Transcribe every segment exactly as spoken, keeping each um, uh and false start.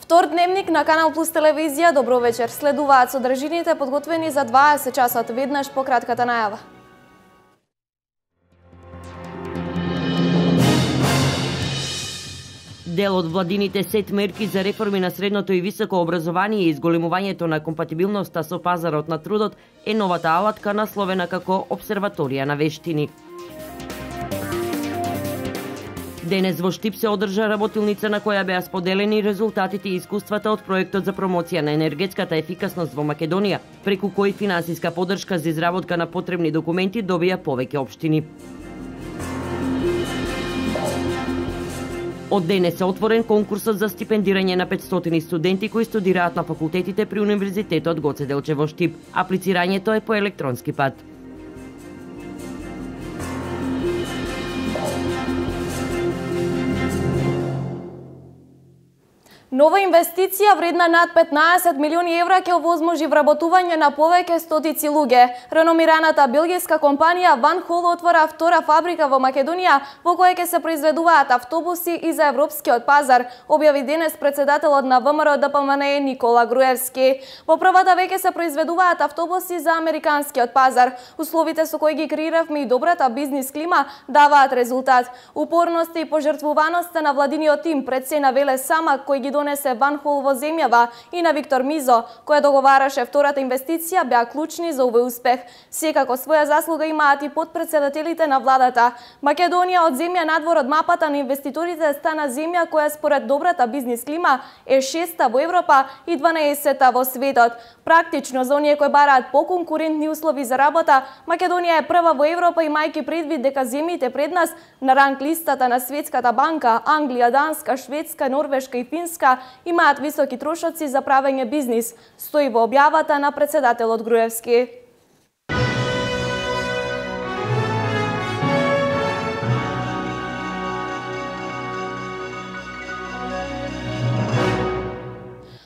Втор дневник на Канал Плюс телевизија. Добро вечер. Следуваат содржините подготвени за дваесет часот. Веднаш по кратката најава. Дел од владините сет мерки за реформи на средното и високо образование и изголемувањето на компатибилноста со пазарот на трудот е новата алатка насловена како Обсерваторија на вештини. Денес во Штип се одржа работилница на која беа споделени резултатите и искуствата од проектот за промоција на енергетската ефикасност во Македонија, преку кој финансиска поддршка за изработка на потребни документи добија повеќе општини. Од денес е отворен конкурсот за стипендирање на петстотини студенти кои студираат на факултетите при Универзитетот Гоце Делчев во Штип. Аплицирањето е по електронски пат. Нова инвестиција вредна над петнаесет милиони евра ќе овозможи вработување на повеќе стотици луѓе. Реномираната белгиска компанија Van Hool отвора втора фабрика во Македонија во која ќе се произведуваат автобуси и за европскиот пазар, објави денес председателот на ВМРО Д П М Н Никола Груевски. Во првата веќе се произведуваат автобуси за американскиот пазар. Условите со кои ги креиравме и добрата бизнис клима даваат резултат. Упорноста и пожртвуваноста на владиниот тим пред се навеле сама кој ги донесе Van Hool во земјава и на Виктор Мизо, која договараше втората инвестиција, беа клучни за овој успех. Секако своја заслуга имаат и подпредседателите на владата. Македонија од земја надвор од мапата на инвеститорите стана земја која според добрата бизнис клима е шеста во Европа и дванаесетта во светот. Практично за оние кои бараат поконкурентни услови за работа, Македонија е прва во Европа имајќи предвид дека земјите пред нас на ранг листата на Светската банка, Англија, Данска, Шведска, Норвешка и Финска имаат високи трошоци за правење бизнис, стои во објавата на председателот Груевски.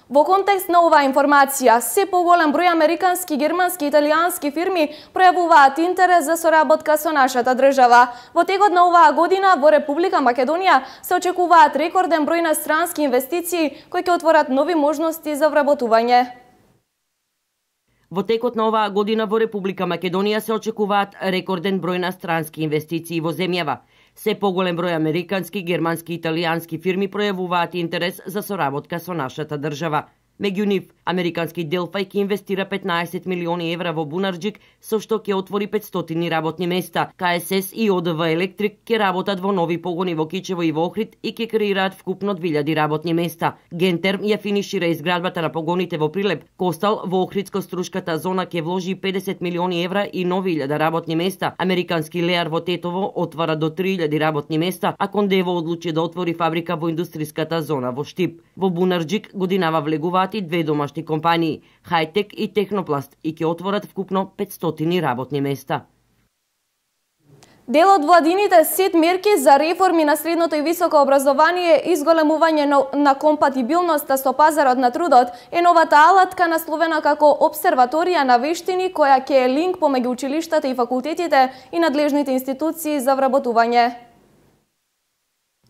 Во контекст на оваа информација, се поголем број американски, германски и италијански фирми пројавуваат интерес за соработка со нашата држава. Во текот на оваа година во Република Македонија се очекуваат рекорден број на странски инвестиции кои ќе отворат нови можности за вработување. Во текот на оваа година во Република Македонија се очекуваат рекорден број на странски инвестиции во земјава. Се поголем број американски, германски и италијански фирми пројавуваат интерес за соработка со нашата држава. Меѓу нив, американски Делфај ќе инвестира петнаесет милиони евра во Бунарџик, со што ќе отвори петстотини работни места. К С С и О Д В Електрик ќе работат во нови погони во Кичево и во Охрид и ќе креираат вкупно две илјади работни места. Гентерм ја финишира изградбата на погоните во Прилеп. Костал во Охридско-Струшката зона ќе вложи педесет милиони евра и нови илјада работни места. Американски Леар во Тетово отвара до три илјади работни места, а Кондево одлучи да отвори фабрика во индустријската зона во Штип. Во Бунарџик годинава влегуваат и две домашни компании, Хајтек и Технопласт, и ќе отворат вкупно петстотини работни места. Дел од владините сет мерки за реформи на средното и високо образование и изголемување на компатибилноста со пазарот на трудот е новата алатка насловена како Обсерваторија на вештини, која ќе е линк помеѓу училиштата и факултетите и надлежните институции за вработување.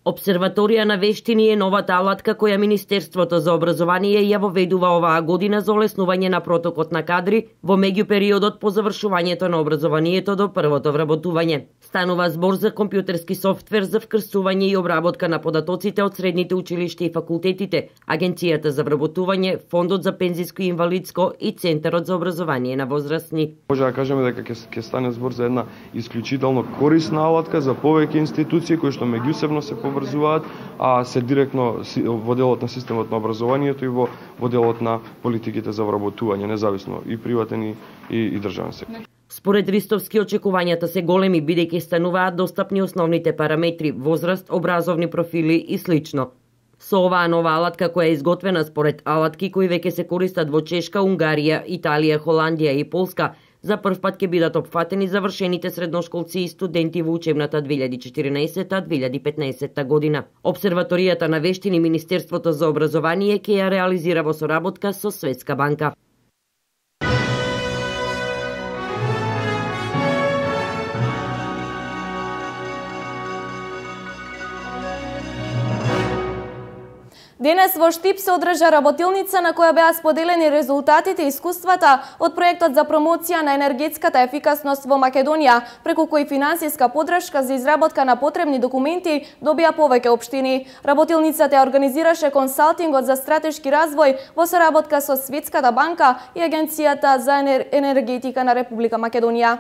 Обсерваторија на вештини е новата алатка која Министерството за образование ја воведува оваа година за олеснување на протокот на кадри во меѓупериодот по завршувањето на образованието до првото вработување. Станува збор за компјутерски софтвер за вкрсување и обработка на податоците од средните училишта и факултетите, Агенцијата за вработување, Фондот за пензиско и инвалидско и Центарот за образование на возрастни. Може да кажеме дека ќе ќе стане збор за една исклучително корисна алатка за повеќе институции кои што меѓусебно се поврзуваат, а се директно во делот на системот на образованието и во, во делот на политиките за вработување, независно и приватен и, и, и државен сектор. Според Ристовски очекувањата се големи бидејќи стануваат достапни основните параметри, возраст, образовни профили и слично. Со оваа нова алатка која е изготвена според алатки кои веќе се користат во Чешка, Унгарија, Италија, Холандија и Полска, за прв пат ќе бидат опфатени завршените средношколци и студенти во учебната две илјади четиринаесетта две илјади петнаесетта година. Обсерваторијата на вештини Министерството за образование ќе ја реализира во соработка со Светска банка. Денес во Штип се одржа работилница на која беа споделени резултатите и искуствата од проектот за промоција на енергетската ефикасност во Македонија, преку кој финансиска поддршка за изработка на потребни документи добија повеќе општини. Работилницата ја организираше консалтингот за стратешки развој во соработка со Светската банка и Агенцијата за енергетика на Република Македонија.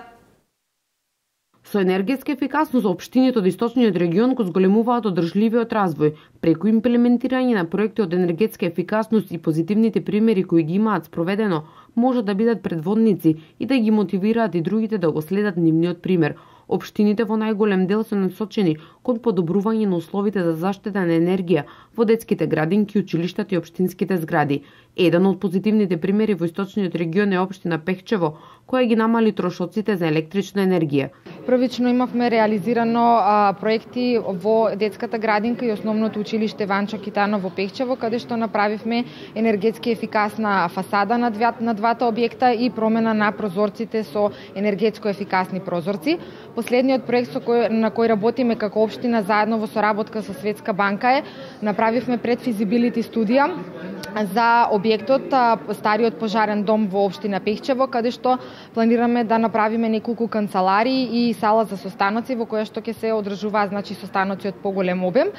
Со енергетска ефикасност општините од источниот регион го зголемуваат одржливиот развој преку имплементирање на проекти од енергетска ефикасност и позитивните примери кои ги имаат спроведено може да бидат предводници и да ги мотивираат и другите да го следат нивниот пример. Општините во најголем дел се насочени кон подобрување на условите за заштита на енергија во детските градинки, училиштата и општинските згради. Еден од позитивните примери во источниот регион е општина Пехчево, која ги намали трошоците за електрична енергија. Првично имавме реализирано а, проекти во детската градинка и основното училиште Ванчо Китано во Пехчево, каде што направивме енергетски ефикасна фасада на, две, на двата објекта и промена на прозорците со енергетско ефикасни прозорци. Последниот проект со кој, на кој работиме како општина заедно во соработка со Светска банка е направивме предфизибилити студија за објектот стариот пожарен дом во општина Пехчево, каде што планираме да направиме неколку канцеларии и сала за состаноци во која што ќе се одржуваат значи состаноци од поголем обем.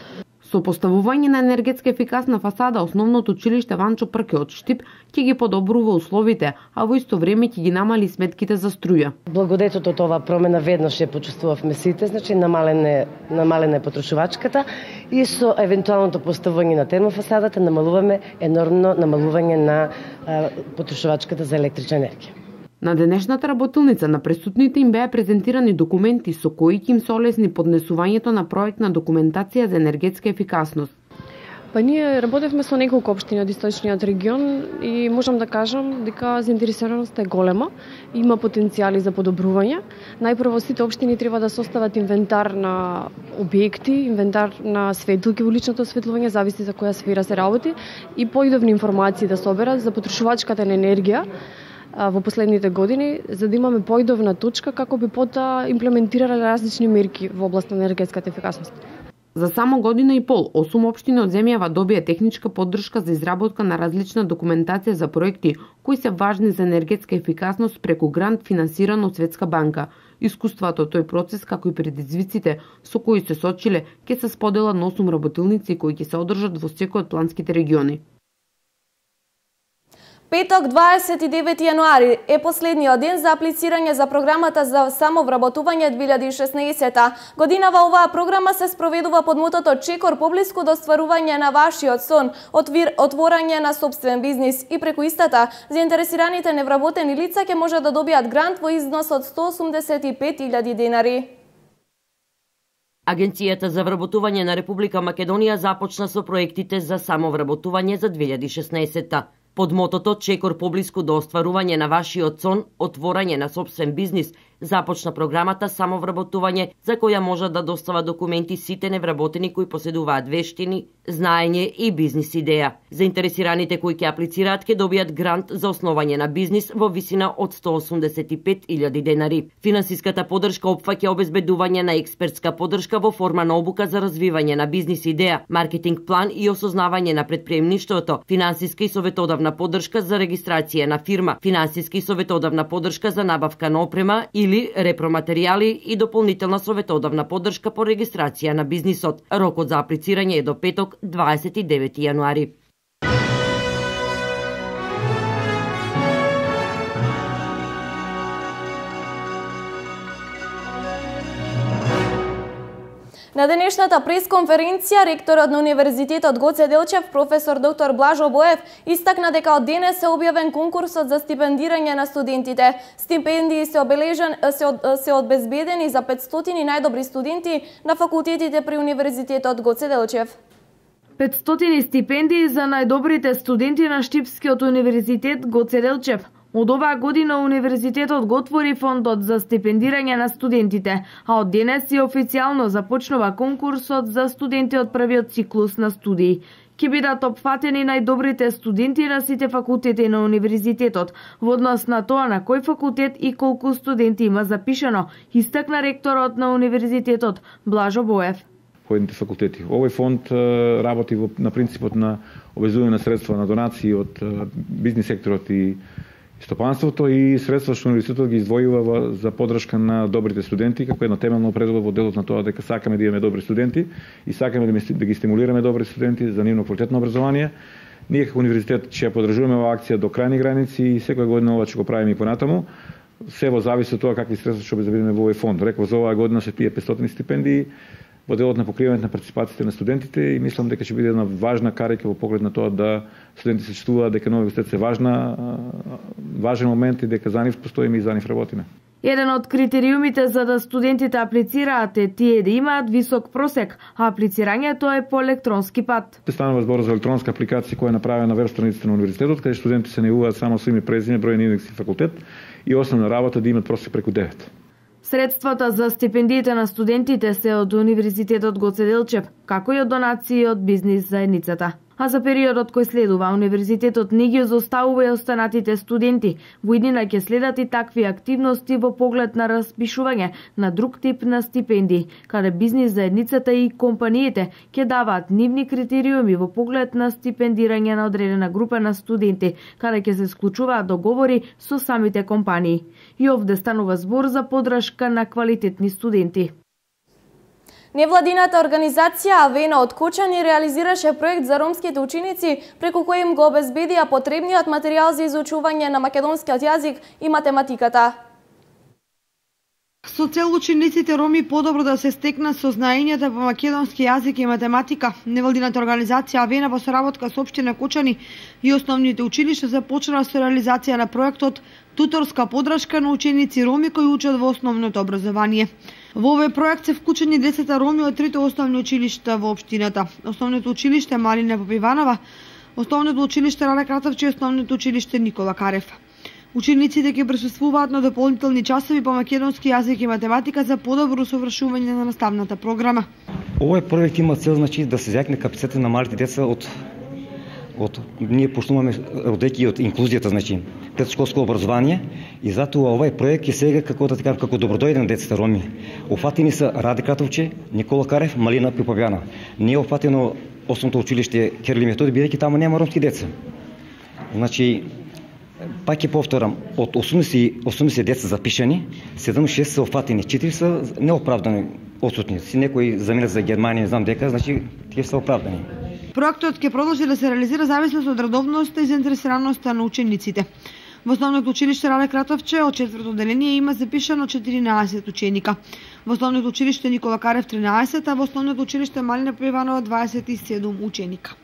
Со поставување на енергетска ефикасна фасада, основното училиште Ванчо Прке од Штип ќе ги подобрува условите, а во исто време ќе ги намали сметките за струја. Благодетот од оваа промена веднаш ја почувствувавме сите, значи намалене намалене потрошувачката и со евентуалното поставување на термофасадата намалуваме енормно намалување на а, потрошувачката за електрична енергија. На денешната работилница на присутните им беа презентирани документи со кои ќе им се олесни поднесувањето на проектна документација за енергетска ефикасност. Па ние работевме со неколку општини од источниот регион и можам да кажам дека заинтересираноста е голема, има потенцијали за подобрување. Најпрво сите општини треба да состават инвентар на објекти, инвентар на светилки во личното осветлување, зависи за која сфера се работи, и поидовни информации да соберат за потрошувачката на енергија во последните години, за да имаме поидовна точка како би пота имплементирале различни мерки во област на енергетската ефикасност. За само година и пол, осум општини од земјава добија техничка поддршка за изработка на различна документација за проекти кои се важни за енергетска ефикасност преку грант финансиран од Светска банка. Искуството од тој процес, како и предизвиците со кои се сочиле, ќе се споделат на осум работилници кои ќе се одржат во секој од планските региони. Петок, дваесет и девети јануари е последниот ден за аплицирање за програмата за самовработување две илјади и шеснаесета. Годинава оваа програма се спроведува под мотото Чекор поблиску до остварување на вашиот сон, отвир, отворање на собствен бизнис, и преку истата заинтересираните невработени лица ќе може да добијат грант во износ од сто осумдесет и пет илјади денари. Агенцијата за вработување на Република Македонија започна со проектите за самовработување за две илјади и шеснаесета. Под мотото Чекор поблиску до остварување на вашиот сон, отворање на собствен бизнис, започна програмата самовработување за која може да достава документи сите невработени кои поседуваат вештини, знаење и бизнис идеја. Заинтересираните кои ќе аплицираат ќе добијат грант за основање на бизнис во висина од сто осумдесет и пет илјади денари. Финансиската поддршка опфаќа обезбедување на експертска поддршка во форма на обука за развивање на бизнис идеја, маркетинг план и осознавање на претприемништвото, финансиска и советодавна поддршка за регистрација на фирма, финансиска и советодавна поддршка за набавка на опрема или репроматеријали и дополнителна советодавна поддршка по регистрација на бизнисот. Рокот за аплицирање е до петок, дваесет и девети јануари. На денешната пресконференција, ректорот на Универзитетот Гоце Делчев, професор доктор Блажо Боев, истакна дека од денес се објавен конкурсот за стипендирање на студентите. Стипендии се обележен се, од, се обезбедени за петстотини најдобри студенти на факултетите при Универзитетот Гоце Делчев. петстотини стипендии за најдобрите студенти на Штипскиот универзитет Гоце Делчев. Од оваа година универзитетот го отвори фондот за стипендирање на студентите, а од денес и официјално започнува конкурсот за студенти од првиот циклус на студии. Ќе бидат опфатени најдобрите студенти на сите факултети на универзитетот, во однос на тоа на кој факултет и колку студенти има запишано, истакна ректорот на универзитетот Блажо Боев. поедните факултети. Овој фонд работи на принципот на обезување на средства на донации од бизнис секторот и стопанството и средства што универзитетот ги издвојува за поддршка на добрите студенти, како едно темелно определба во делот на тоа дека сакаме да имаме добри студенти и сакаме да ги стимулираме добри студенти за нивно квалитетно образование. Ние како универзитет ќе ја поддржуваме оваа акција до крајни граници и секоја година ова ќе го правиме и понатаму. Се во зависи од тоа какви средства ќе обезбедиме во овој фонд. Реков, за оваа година се тие петстотини стипендии во делот на покривањето на партиципациите на студентите и мислам дека ќе биде една важна карика во поглед на тоа да студенти се чувствуваат дека новиот универзитет се важна важен момент и дека за нив постоиме и за нив работиме. Еден од критериумите за да студентите аплицираат е тие да имаат висок просек, а аплицирањето е по електронски пат. Станува збор за електронска апликација која е направена на веб страницата на универзитетот, каде студентите се најавуваат само со име, презиме, број на индекс и факултет и основна работа да имаат просек преку девет. Средствата за стипендиите на студентите се од Универзитетот Гоце Делчев, како и од донации од бизнис заедницата. А за периодот кој следува, универзитетот не ги зоставува и останатите студенти. Во иднина ќе следат и такви активности во поглед на распишување на друг тип на стипендии, каде бизнис заедницата и компаниите ќе даваат нивни критериуми во поглед на стипендирање на одредена група на студенти, каде ќе се склучуваат договори со самите компании. И овде станува збор за поддршка на квалитетни студенти. Невладината организација Авена од Кочани реализираше проект за ромските ученици, преку кој им го обезбедија потребниот материјал за изучување на македонскиот јазик и математиката. Со цел учениците роми подобро да се стекнат со знаењата по македонски јазик и математика, невладината организација Авена во соработка со општина Кочани и основните училишта започнала со реализација на проектот туторска поддршка на ученици роми кои учат во основното образование. Во овој проект се вклучени десет роми од трите основни училишта во општината. Основното училиште Марина Попиванова, основното училиште Рада Кратовче и основното училиште Никола Карев. Учениците ќе присуствуваат на дополнителни часови по македонски јазик и математика за подобро усовршување на наставната програма. Овој проект има цел, значи, да се зјакне капацитетот на малите деца од од ние почнуваме одејќи од инклузијата, значи предшколско образование и затоа овој проект е сега како да кажам како добродојден децата роми. Офатени се Раде Кратовче, Никола Карев, Малина Попивана. Не е офатено основното училиште Кирил и Методи, бидејќи таму нема ромски деца. Значи пак ќе повторам, од осумдесет деца запишани, седумдесет и шест се офатени, четири се неоправдани отсутни. Си некои заминат за Германија, знам дека, значи тие се оправдани. Проектот ќе продолжи да се реализира зависно од редовноста и заинтересираноста на учениците. Во основното училиште Раде Кратовче од четврто одделение има запишано четиринаесет ученика. Во основното училиште Никола Карев тринаесет, а во основното училиште Малина Попиванова дваесет и седум ученика.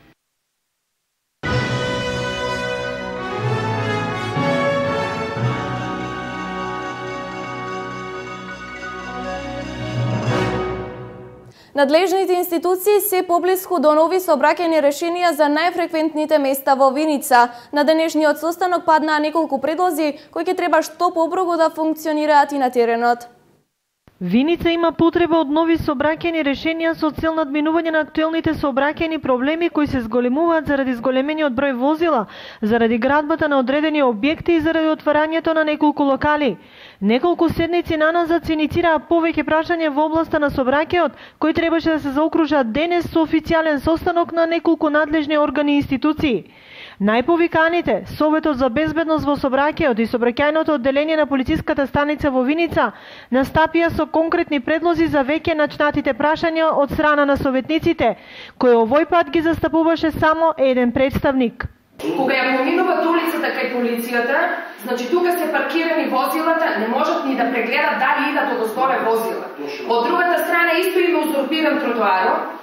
Надлежните институции се поблиску до нови сообраќајни решенија за најфреквентните места во Виница. На денешниот состанок паднаа неколку предлози кои ќе треба што побрзо да функционираат и на теренот. Виница има потреба од нови сообраќајни решенија со цел надминување на актуелните сообраќајни проблеми кои се зголемуваат заради зголемениот број возила, заради градбата на одредени објекти и заради отварањето на неколку локали. Неколку седници наназад се иницираа повеќе прашања во областа на сообраќајот, кои требаше да се заокружат денес со официјален состанок на неколку надлежни органи и институции. Најповиканите, Советот за безбедност во сообраќајот и сообраќајното одделение на полициската станица во Виница, настапија со конкретни предлози за веќе начнатите прашања од страна на советниците, кои овој пат ги застапуваше само еден представник. Кога ја поминуват улицата кај полицијата, значи тука се паркирани возилата, не можат ни да прегледат дали идат од озгоре возила. Од другата страна исто има узурпиран тротоарот.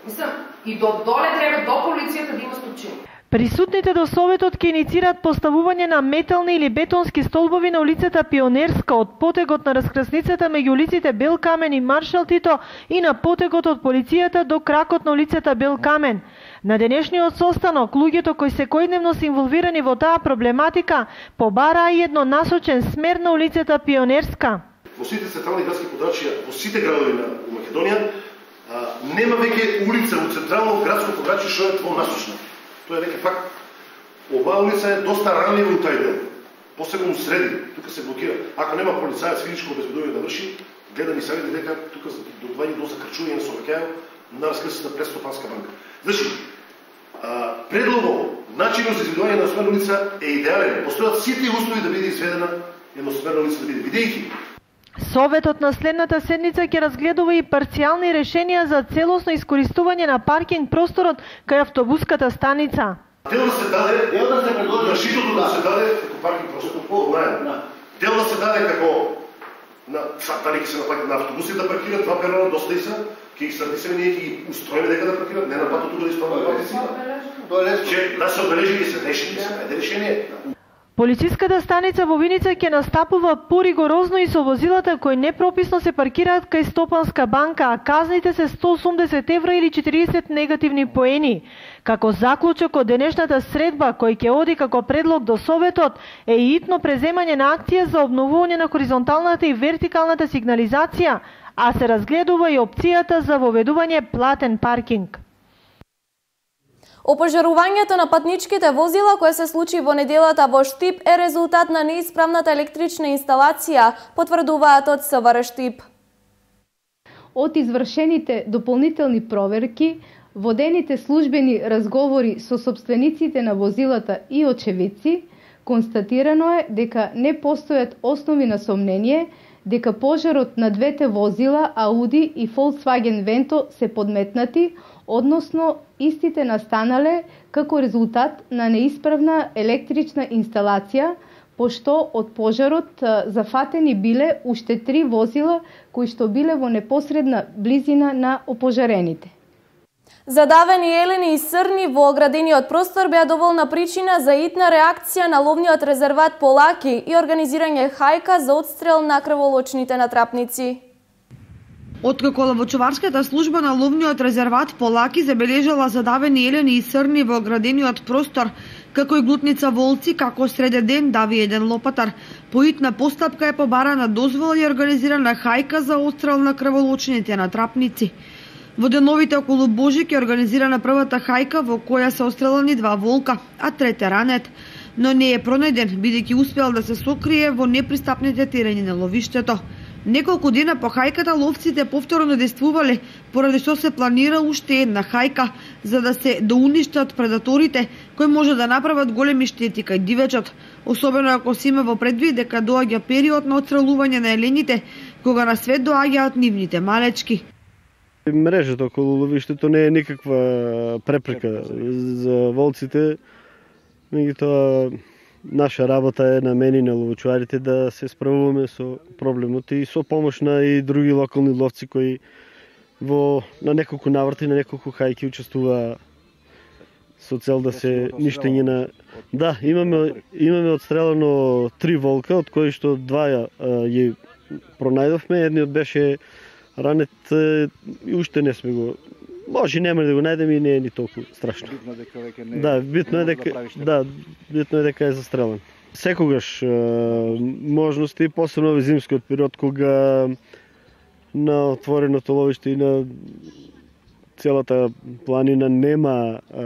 Мислам, и до доле треба до полицијата да има стопчини. Присутните до Советот ќе иницираат поставување на метални или бетонски столбови на улицата Пионерска од потегот на раскрсницата меѓу улиците Бел Камен и Маршал Тито и на потегот од полицијата до кракот на улицата Бел Камен. На денешниот состанок, луѓето кои секојдневно се инволвирани во таа проблематика побараа и еднонасочен смер на улицата Пионерска. Во сите централни градски подрачја, во сите градови на Македонија, нема веќе улица во централно градско подрачје што е двонасочна. Тоа е веќе факт. Оваа улица е доста ранлива у тај дел. Посебно среди, тука се блокира. Ако нема полицаец физичко обезбедување да врши, гледа ни савети дека тука доаѓа до закрчување на сообраќајот, на раскрсата Престопанска банка. Значи, предлогот, начинот за изведување на едносмерна улица е идеален. Постојат сите услови да биде изведена едносмерна улица, да биде бидејќи. Советот на следната седница ќе разгледува и парцијални решенија за целосно искористување на паркинг просторот кај автобуската станица. Дел да се даде, дел да се предложи, решително да се даде како паркинг простор по најм. Дел да се даде како на дали ќе се наплати на автобусите да паркираат два перона доста и са, ќе ги стартисаме ние ќе ги устроиме дека да паркираат, не на патот тука да исправат патиците. Че да се одбележи и се реши, се најде решение. Полициската станица во Виница ќе настапува поригорозно и со возилата кои непрописно се паркираат кај Стопанска банка, а казните се сто осумдесет евра или четириесет негативни поени. Како заклучок од денешната средба, кој ќе оди како предлог до Советот, е и итно преземање на акција за обновување на хоризонталната и вертикалната сигнализација, а се разгледува и опцијата за воведување платен паркинг. Опожарувањето на патничките возила кое се случи во неделата во Штип е резултат на неисправната електрична инсталација, потврдуваат од СВР Штип. Од извршените дополнителни проверки, водените службени разговори со собствениците на возилата и очевидци, констатирано е дека не постојат основи на сомнение дека пожарот на двете возила Ауди и Volkswagen Vento се подметнати, односно истите настанале како резултат на неисправна електрична инсталација, пошто од пожарот зафатени биле уште три возила кои што биле во непосредна близина на опожарените. Задавени елени и срни во оградениот простор беа доволна причина за итна реакција на ловниот резерват Полаки и организирање хајка за отстрел на крволочните натрапници. Откако ловочуварската служба на ловниот резерват Полаки забележала задавени елени и срни во оградениот простор, како и глутница волци, како среде ден дави еден лопатар, по итна постапка е побарана дозвола и организирана хајка за отстрел на крволочните натрапници. Во деновите околу Божик е организирана првата хајка во која се отстрелани два волка, а трете ранет, но не е пронајден, бидејќи успеал да се сокрие во непристапните терени на ловиштето. Неколку дена по хајката ловците повторно действувале, поради што се планира уште една хајка, за да се доуништат предаторите кои може да направат големи штети кај дивечот, особено ако се има во предвид дека доаѓа период на отстрелување на елените, кога на свет доаѓаат нивните малечки. Мрежата околу ловиштето не е никаква препрека за волците, меѓутоа наша работа е на мене и на ловочуарите да се справуваме со проблемот и со помош на и други локални ловци кои во на неколку наврати, на неколку хајки учествува со цел да се ништење на... Да, имаме, имаме отстрелано три волка, од кои што два ја, ја пронајдовме, едниот беше ранет и уште не сме го... Може нема да го најдеме и не е ни толку страшно. Битно дека веќе не да, битно е дека да, битно е дека е застрелен. Секогаш е, можности, посебно во зимскиот период кога на отвореното ловиште и на целата планина нема е,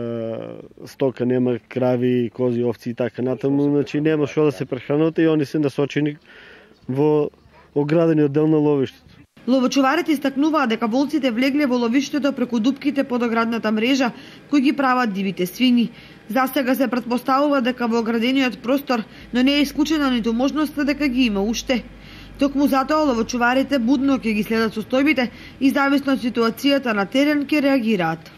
стока, нема крави, кози, овци и така натаму, значи нема што да се прехранат и они се насочени во оградениот дел на ловиштето. Ловочуварите истакнуваат дека волците влегле во ловиштето преку дупките под оградната мрежа кои ги прават дивите свињи. Засега се претпоставува дека во оградениот простор, но не е исклучена ниту можноста дека ги има уште. Токму затоа ловочуварите будно ќе ги следат состојбите и зависно од ситуацијата на терен ќе реагираат.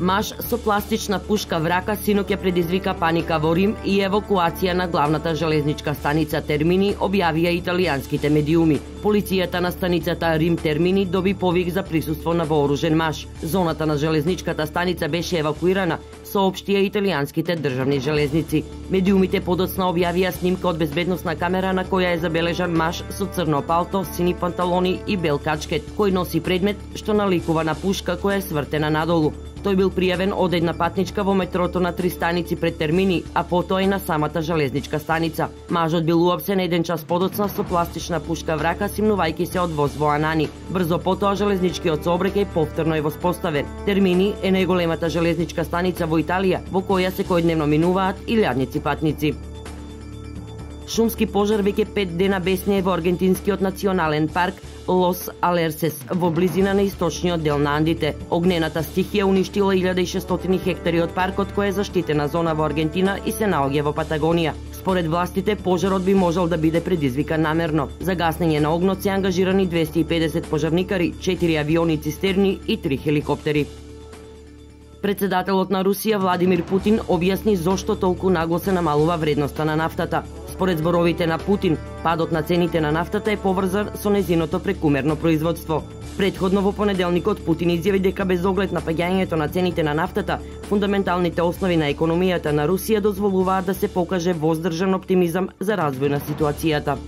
Маж со пластична пушка врака синоќ ја предизвика паника во Рим и евакуација на главната железничка станица Термини, објавија италијанските медиуми. Полицијата на станицата Рим Термини доби повик за присуство на вооружен маж. Зоната на железничката станица беше евакуирана, соопштија италијанските државни железници. Медиумите подоцна објавија снимка од безбедносна камера на која е забележан маж со црно палто, сини панталони и бел качкет, кој носи предмет што наликува на пушка која е свртена надолу. Тој бил пријавен од една патничка во метрото на три станици пред Термини, а потоа и на самата железничка станица. Мажот бил уапсен еден час подоцна со пластична пушка врака, симнувајќи се од воз во Анани. Брзо потоа железничкиот сообраќај повторно е воспоставен. Термини е најголемата железничка станица во Италија, во која секојдневно минуваат илјадници патници. Шумски пожар веќе пет дена беснее во аргентинскиот национален парк Лос Алерсес во близина на источниот дел на Андите. Огнената стихија уништила илјада и шестстотини хектари од паркот, кој е заштитена зона во Аргентина и се наоѓа во Патагонија. Според властите, пожарот би можел да биде предизвикан намерно. За гаснење на огнот се ангажирани двесте и педесет пожарникари, четири авиони цистерни и три хеликоптери. Председателот на Русија Владимир Путин објасни зошто толку нагло се намалува вредноста на нафтата. Според зборовите на Путин, падот на цените на нафтата е поврзан со незиното прекумерно производство. Предходно во понеделникот Путин изјави дека без оглед на паѓањето на цените на нафтата, фундаменталните основи на економијата на Русија дозволуваат да се покаже воздржан оптимизам за развој на ситуацијата.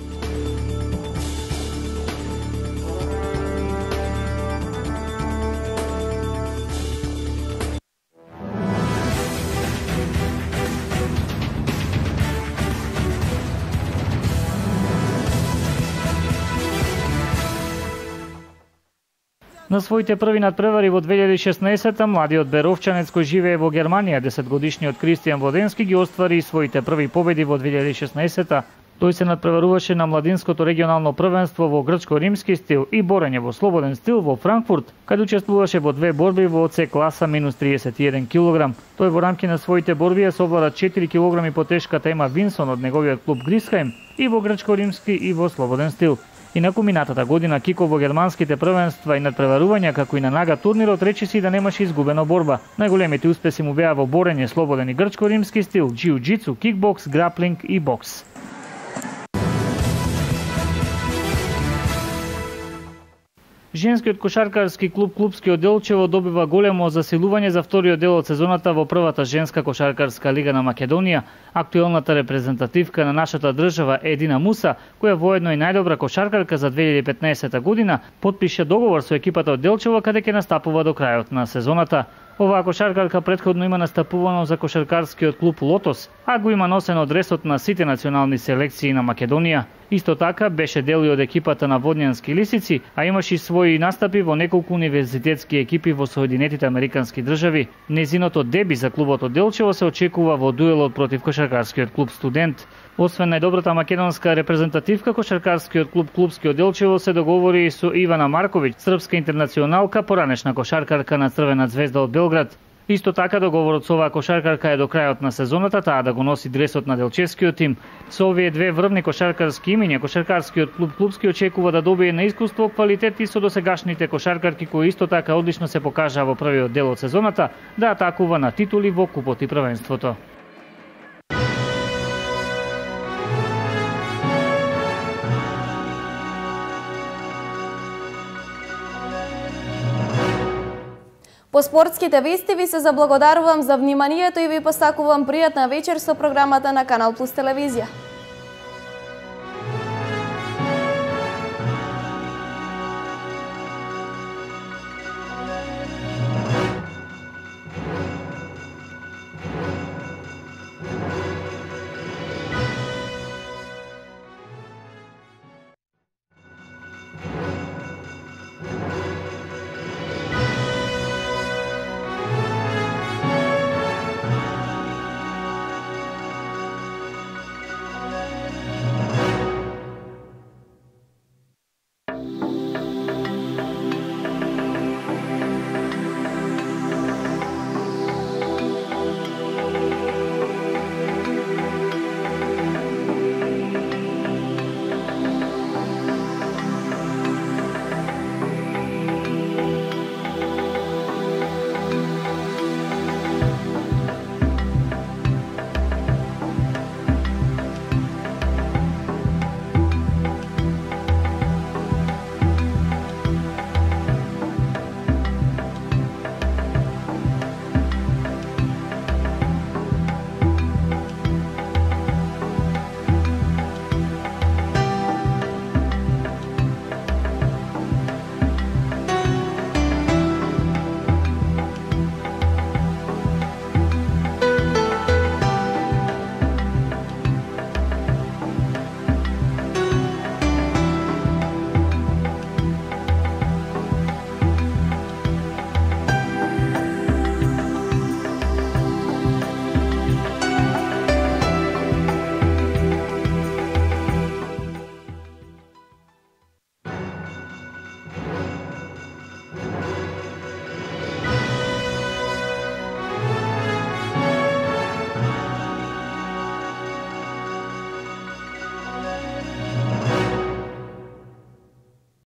На своите први надпревари во две илјади и шеснаесетта младиот беровчанец кој живее во Германија, десетгодишниот Кристијан Воденски ги оствари своите први победи во две илјади и шеснаесетта. Тој се надпреваруваше на младинското регионално првенство во грчко-римски стил и борење во слободен стил во Франкфурт, каде учествуваше во две борби во С класа минус триесет и еден килограм. Тој во рамки на своите борби ја совлада четири килограми по тешката Ема Винсон од неговиот клуб Грисхаим и во грчко-римски и во слободен стил. Инаку минатата година Кико во германските првенства и надпреварувања како и на нага турнирот речиси да немаше изгубена борба. Најголемите успеси му беа во борење, слободен и грчко-римски стил, џиу-џицу, кикбокс, граплинг и бокс. Женскиот кошаркарски клуб Клупскиот Делчево добива големо засилување за вториот дел од сезоната во првата женска кошаркарска лига на Македонија. Актуелната репрезентативка на нашата држава Едина Муса, која воедно и најдобра кошаркарка за две илјади и петнаесетта година, потпише договор со екипата од Делчево каде ќе настапува до крајот на сезоната. Оваа кошаркарка предходно има настапувано за кошаркарскиот клуб Лотос, а го има носено дресот на сите национални селекции на Македонија. Исто така беше дел и од екипата на Водњански лисици, а имаше и своји настапи во неколку универзитетски екипи во Соединетите Американски држави. Незиното деби за клубот од Делчево се очекува во дуелот против кошаркарскиот клуб Студент. Освен најдобрата македонска репрезентативка, кошаркарскиот клуб Клупскиот Делчево се договори и со Ивана Марковиќ, српска интернационалка, поранешна кошаркарка на Црвена звезда од Белград. Исто така договорот со оваа кошаркарка е до крајот на сезоната, таа да го носи дресот на делчевскиот тим. Со овие две врвни кошаркарски имиња, кошаркарскиот клуб Клупски очекува да добие на искуство, квалитет и со досегашните кошаркарки кои исто така одлично се покажаа во првиот дел од сезоната, да атакува на титули во купот и првенството. По спортските вести ви се заблагодарувам за вниманието и ви посакувам пријатна вечер со програмата на Канал Плюс телевизија.